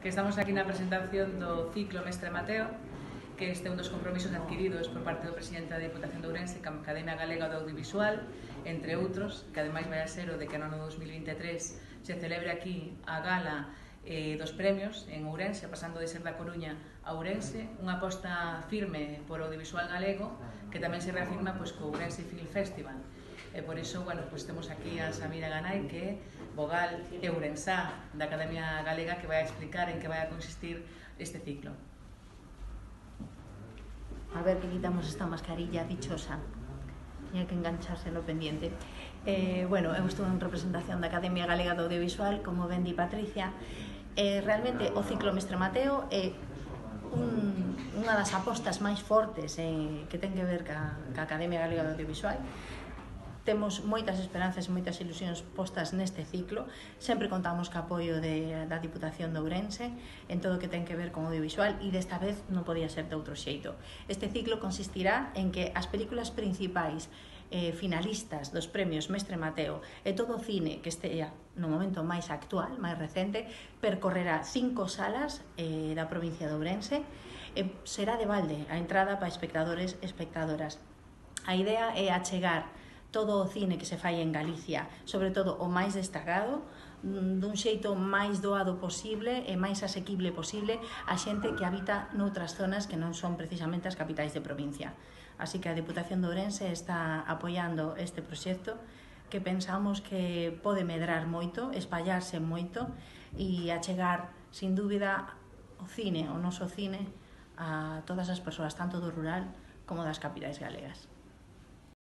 que estamos aquí na presentación do ciclo Mestre Mateo, que este é un dos compromisos adquiridos por parte do presidente da Diputación de Ourense ca Academia Galega do Audiovisual, entre outros, que ademais vai a ser o de que no ano 2023 se celebre aquí a gala dos premios en Ourense, pasando de ser da Coruña a Ourense, unha aposta firme por audiovisual galego que tamén se reafirma co Ourense Film Festival. E por iso, temos aquí a Samira Ganay, que é vogal e ourensá da Academia Galega, que vai a explicar en que vai a consistir este ciclo. A ver que quitamos esta mascarilla dichosa. Tiña que engancharse no pendiente. Eu estou en representación da Academia Galega do Audiovisual, como ben di Patricia. Realmente o ciclo Mestre Mateo é unha das apostas máis fortes que ten que ver ca Academia Galega do Audiovisual. Temos moitas esperanzas e moitas ilusións postas neste ciclo. Sempre contamos co apoio da Diputación de Ourense en todo o que ten que ver con audiovisual e desta vez non podía ser de outro xeito. Este ciclo consistirá en que as películas principais finalistas dos premios Mestre Mateo e todo o cine que estea no momento máis actual, máis recente, percorrerá 5 salas da provincia de Ourense e será de balde a entrada para espectadores e espectadoras. A idea é achegar todo o cine que se fai en Galicia, sobre todo o máis destacado, dun xeito máis doado posible e máis asequible posible a xente que habita noutras zonas que non son precisamente as capitais de provincia. Así que a Diputación de Ourense está apoiando este proxecto que pensamos que pode medrar moito, espallarse moito e achegar, sin dúbida, o cine, o noso cine, a todas as persoas, tanto do rural como das capitais galegas.